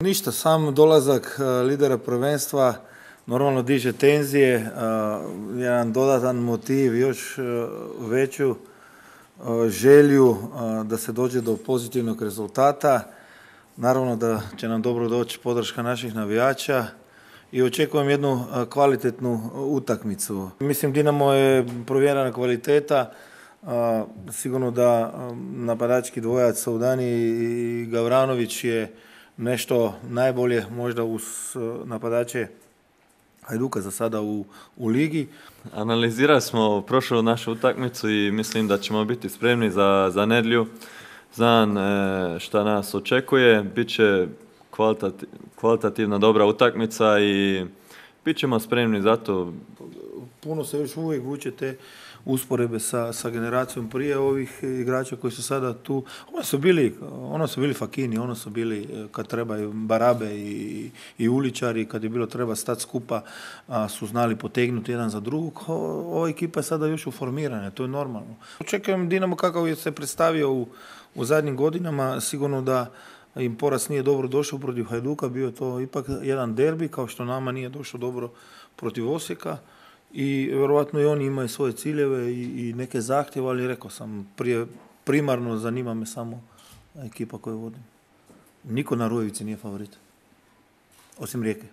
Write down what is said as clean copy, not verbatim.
Ništa, sam dolazak lidera prvenstva normalno diže tenzije, jedan dodatan motiv, još veću želju da se dođe do pozitivnog rezultata. Naravno da će nam dobro doći podrška naših navijača i očekujem jednu kvalitetnu utakmicu. Mislim, Dinamo je provjerena kvaliteta, sigurno da napadački dvojac Soudani i Gavranović je nešto najbolje možda uz napadače Hajduka za sada u ligi. Analizirali smo prošlu našu utakmicu i mislim da ćemo biti spremni za nedjelju. Znam šta nas očekuje, bit će kvalitativna dobra utakmica i bit ćemo spremni za to. Puno se još uvijek vuče te usporedbe sa generacijom prije ovih igrača koji su sada tu. Ono su bili Fakini, ono su bili kad trebaju Barabe i Uličari, kad je bilo treba stati skupa, su znali potegnuti jedan za drugog. Ova ekipa je sada još uformirana, to je normalno. Očekujem Dinamo kakav je se predstavio u zadnjim godinama, sigurno da im poraz nije dobro došao protiv Hajduka, bio to ipak jedan derbi, kao što nama nije došlo dobro protiv Osijeka. I vjerojatno i oni imaju svoje ciljeve i neke zahtjeve, ali rekao sam, primarno zanima me samo ekipa koju vodim. Niko na Rujevici nije favorit, osim Rijeke.